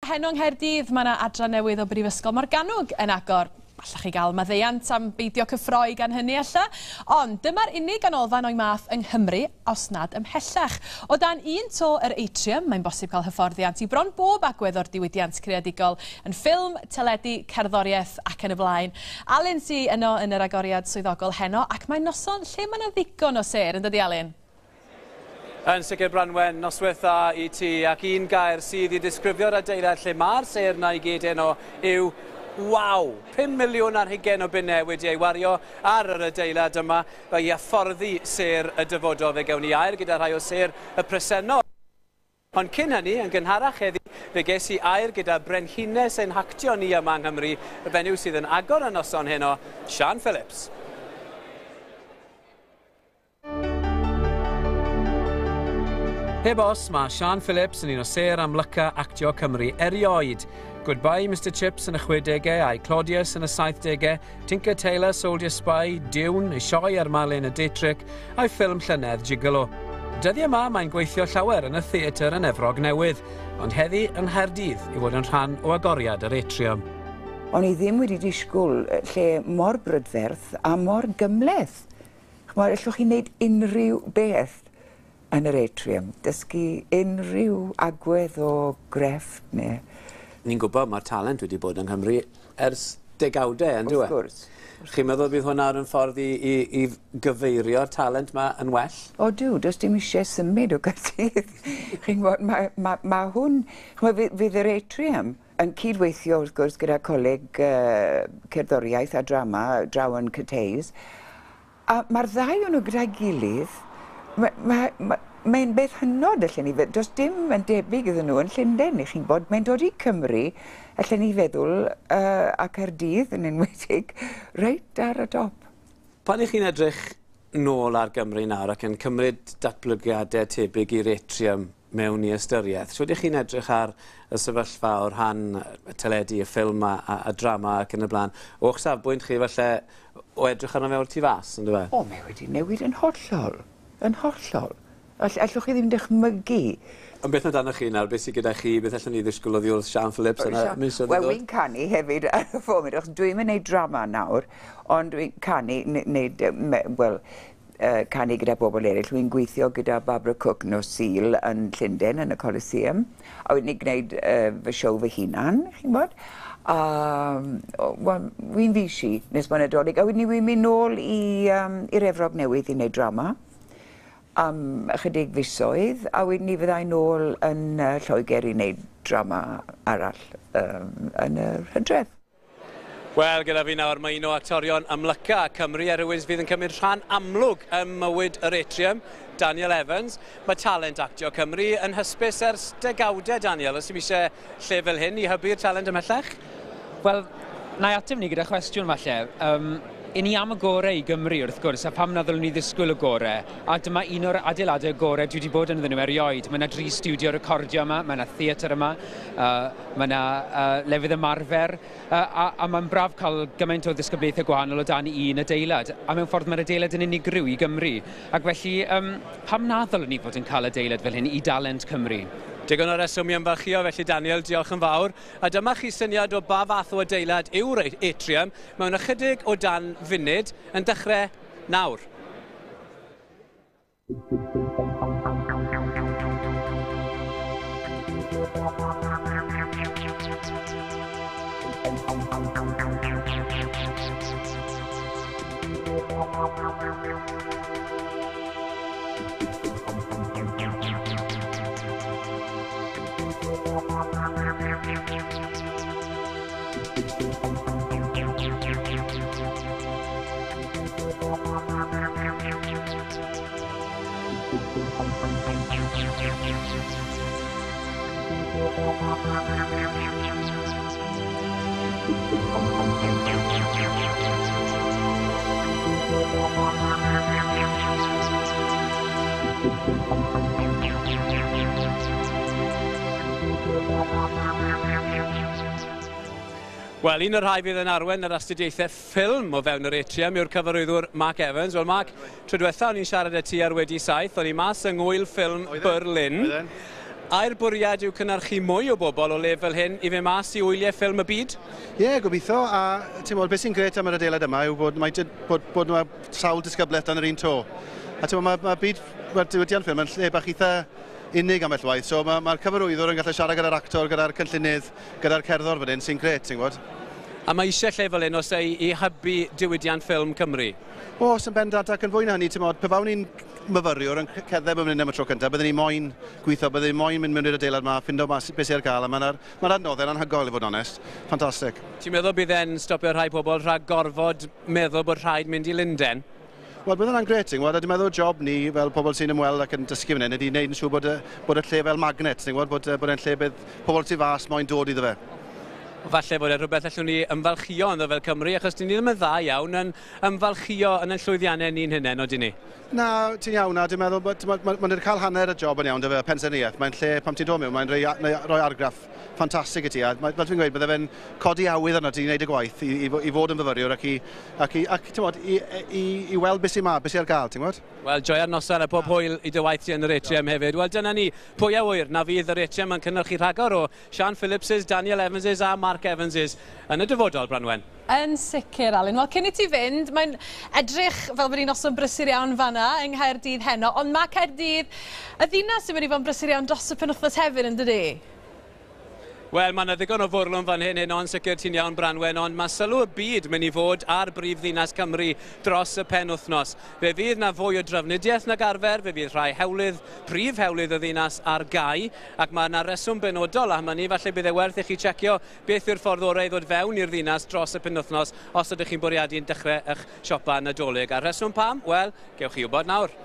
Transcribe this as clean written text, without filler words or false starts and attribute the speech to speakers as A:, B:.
A: Heno yng Nghaerdydd mae yna adran newydd o Brifysgol Morgannwg yn agor. Allech chi gael maddeuant am beidio cyffroi gan hynny ella, ond dyma'r unig ganolfan o'i math yng Nghymru, os nad ymhellach. O dan un to yr Atrium, mae'n bosib cael hyfforddiant i bron bob agwedd o'r diwydiant creadigol, yn ffilm, teledu, cerddoriaeth ac yn y blaen. Alun sy yno yn yr agoriad swyddogol heno, ac mae'n noson lle mae yna ddigon o sêr, yn dydi Alun?
B: Yn sicr Branwen, noswaith dda i ti, ac un gair sydd i ddisgrifio'r adeilad lle mae'r sêr 'na i gyd heno yw waw! 5 miliwn ar hugain o bunnau wedi ei wario ar yr adeilad yma i hyfforddi sêr y dyfodol. Fe gewn ni air gyda rhai o sêr y presennol. Ond cyn hynny, yn gynharach heddi, fe ges i air gyda brenhines ein hactio ni yma yng Nghymru, y fenyw sydd yn agor y noson heno, Siân Phillips. Heb os, mae Siân Phillips yn un o sêr amlyca actio Cymru erioed. Goodbye Mister Chips yn y 60au, I Claudius yn y 70au, Tinker Tailor, Soldier Spy, Dune, ei sioe ar Marlene Dietrich, a'i ffilm llynedd Gigolo. Dyddiau yma mae'n gweithio llawer yn y theatr yn Efrog Newydd, ond heddi yng Nghaerdydd i fod yn rhan o agoriad yr Atrium.
C: O'n i ddim wedi disgwyl lle mor brydferth a mor gymhleth. Ch'mod, allwch chi wneud unrhyw beth yn yr Atrium, dysgu unrhyw agwedd o grefft neu...
B: Ni'n gwybod mae'r talent wedi bod yng Nghymru ers degawdau, yn dyw e?
C: Wrth gwrs.
B: Chi'n meddwl bydd hwnna yn ffordd i, i, i gyfeirio'r talent 'ma yn well?
C: O duw, does dim eisiau symud o Gaerdydd. Chi'n gwybod, mae, mae, mae hwn... Ch'mod, fydd, fydd yr Atrium yn cydweithio, wrth gwrs, gyda Coleg uh, Cerddoriaeth a Drama draw yn Cathays. A mae'r ddau o'n nhw gyda'i gilydd, mae'n ma, ma, mae'n beth hynod allen ni fe-, does dim yn debyg iddyn nhw yn Llundain, i chi'n gwybod. Mae'n dod i Cymru, allen ni feddwl, uh, a Caerdydd yn enwedig, reit ar y top.
B: Pan 'ych chi'n edrych nôl ar Gymru nawr ac yn cymryd datblygiadau tebyg i'r Atrium mewn i ystyriaeth, shwd 'ych chi'n edrych ar y sefyllfa o rhan y teledu, y ffilm a, a, a drama ac yn y blaen, o'ch safbwynt chi falle o edrych arno fe o'r tu fas, on'd yfe?
C: O, mae wedi newid yn hollol, yn hollol. All, allwch chi ddim dychmygu.
B: Ond beth amdanoch chi nawr, beth sydd gyda chi, beth allwn ni ddisgwyl oddi wrth Siân Phillips yn y misoedd i
C: ddod? Wel, wi'n canu hefyd ar y foment, achos dwi'm yn neud drama nawr, ond dwi'n canu, neud, wel, canu gyda bobl eraill. Wi'n gweithio gyda Barbara Cook nos Sul yn Llundain yn y Coliseum, a wedyn ni'n gwneud fy siow fy hunan, chi'n gwybod. A wel, wi'n fishi nes bod Nadolig, a wedyn wi'n mynd nôl i um, i'r Efrog Newydd i wneud drama am ychydig fisoedd, a wedyn ni fyddai nôl yn Lloegr i wneud drama arall um, yn yr hydref.
B: Wel, gyda fi nawr mae un o actorion amlyca Cymru a rhywun fydd yn cymryd rhan amlwg ym mywyd yr Atrium, Daniel Evans. Mae talent actio Cymru yn hysbys ers degawdau, Daniel. Oes dim eisiau lle fel hyn i hybu'r talent ymhellach?
D: Wel, na i ateb ni gyda chwestiwn falle. Um, i ni am y gorau i Gymru wrth gwrs, a pam na ddylwn ni ddisgwyl y gorau? A dyma un o'r adeiladau gorau dwi wedi bod ynddyn nhw erioed. Mae yna dri stiwdio recordio yma, mae yna theatr yma, uh, mae yna uh, lefydd ymarfer, A, a, a mae'n braf cael gymaint o ddisgyblaethau gwahanol o dan un adeilad. A mewn ffordd mae'r adeilad yn unigryw i Gymru. Ac felly, um, pam na ddylwn ni fod yn cael adeilad fel hyn i dalent Cymru?
B: Digon o reswm i ymfalchïo felly Daniel, diolch yn fawr. A dyma chi syniad o ba fath o adeilad yw'r Atrium mewn ychydig o dan funud, yn dechrau nawr. Wel, un o'r rhai fydd yn arwain yr astudiaethau ffilm o fewn yr Atrium yw'r cyfarwyddwr Mark Evans. Wel, Mark, tro diwetha o'n i'n siarad â ti ar Wedi Saith, o'n i mas yng Ngŵyl Ffilm Berlin. Ai'r bwriad yw cynhyrchu mwy o bobl o le fel hyn i fynd mas i wyliau ffilm y byd?
E: Ie, yeah, gobeithio. A ti'n gwybod, beth sy'n grêt am yr adeilad yma yw bod, mae, bod, bod yma sawl disgyblaeth dan yr un to. A ti'n gwybod, mae byd, mae'r diwydiant ffilm yn lle bach eitha unig ambell waith. So mae'r cyfarwyddwr yn gallu siarad gyda'r actor, gyda'r cynllunydd, gyda'r cerddor fan hyn, sy'n grêt, ti'n gwybod.
B: A mae eisiau lle fel hyn os ei i hybu diwydiant ffilm Cymru?
E: Oes, yn bendant, ac yn fwy na hynny, ti'n modd, pe bawn i'n myfyriwr yn cerdded mewn hyn am y tro cyntaf, byddwn ni moyn gweithio, byddwn ni moyn mynd mewn i'r adeilad yma, ffindo mas beth sydd ar gael, a mae'r adnoddau'n anhygoel i fod yn onest. Ffantastig.
B: Ti'n meddwl bydd e'n stopio rhai pobl rhag gorfod meddwl bod rhaid mynd i Lundain?
E: Wel, bydd hwnna'n grêt, ti'n gwybod, a dwi'n meddwl job ni fel pobl sy'n ymweld ac yn dysgu fan hyn ydy wneud yn siŵr bod y lle fel magnet, ti'n gwybod, bod e'n lle bydd pobl tu fas moyn dod iddo fe.
B: Falle bod e rhywbeth allwn ni ymfalchio ynddo fel Cymru, achos dyn ni ddim yn dda iawn yn ymfalchio yn ein llwyddiannau ni'n hunain, odyn ni?
E: Na, ti'n iawn, na, dwi'n meddwl bod mae'n cael hanner y job yn iawn, dy fe, pensaernïaeth. Mae'n lle, pam ti'n dod mewn, mae'n rhoi argraff ffantastig i ti. A mae, fel dwi'n gweud, bydde fe'n codi awydd arno ti i wneud y gwaith, i fod yn fyfyriwr ac ti'n gwbod, i weld beth sy'n ma, beth sy'n ar gael, ti'n gwybod?
B: Wel, joia'r noson a pob hwyl i dy waith ti yn yr Atrium hefyd. Wel, dyna ni, pwy a ŵyr na fydd yr Atrium yn cynhyrchu rhagor o Sian Phillipses, Daniel Evanses a Mark Evanses yn y dyfodol, Branwen.
A: Yn sicr, Alun. Wel, cyn i ti fynd, mae'n edrych fel bod hi'n noson brysur iawn fanna yng Nghaerdydd heno, ond mae Caerdydd, y ddinas, sy'n mynd i fod yn brysur iawn dros y penwythnos hefyd, yn dydi?
B: Wel, mae yna ddigon o fwrlwm fan hyn heno, yn sicr, ti'n iawn, Branwen, ond mae sylw y byd mynd i fod ar brif ddinas Cymru dros y penwythnos. Fe fydd na fwy o drafnidiaeth nag arfer, fe fydd rhai hewlydd, prif hewlydd y ddinas ar gau, ac mae yna reswm benodol am hynny, falle bydd e werth i chi checio beth yw'r ffordd orau i ddod fewn i'r ddinas dros y penwythnos os ydych chi'n bwriadu'n dechrau eich siopa Nadolig. A'r reswm pam? Wel, gewch chi wybod nawr.